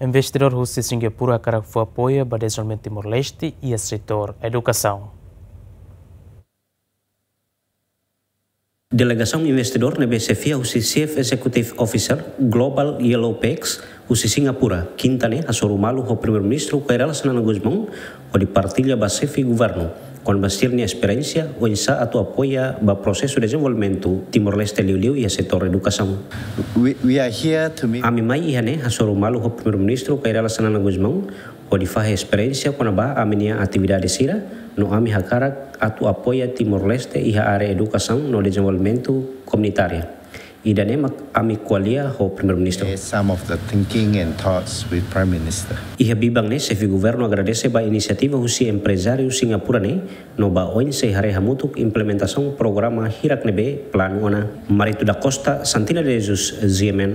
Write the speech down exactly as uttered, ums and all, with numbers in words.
Investidór husi Singapura hakarak fó apoiu ba dezenvolvimentu Timor-Leste iha setór edukasaun. Delegasaun investidór ne'ebé xefia husi Chief Executive Officer Global Yellow Pax husi Singapura, Kinta ne'e hasoru malu ho Primeiru-Ministru Kay Rala Xanana Gusmão, hodi partilla ba xefe governu kona-ba sira-nia esperiénsia oinsá atu apoia ba prosesu dezenvolvimentu Timor-Leste, liuliu iha setór edukasaun. We, we are here to meet. Ami mai iha ne'e hasoru malu ho Primeiru-Ministru Kay Rala Xanana Gusmão, hodi fahe esperiénsia kona-ba ami-nia atividade sira, no ami hakarak atu apoia Timor-Leste iha área edukasaun no dezenvolvimentu komunitária. Ida-ne'e mak ami ko'alia ho Primeiru-Ministru. Share some of the thinking and thoughts with Prime Minister. Iha biban ne'e, xefe governu agradese ba inisiativa husi emprezáriu Singapura ne'e, no ba oinsá haree hamutuk implementasaun programa hirak ne'ebé planu ona. Marito da Costa, Santina de Jesus, G M N.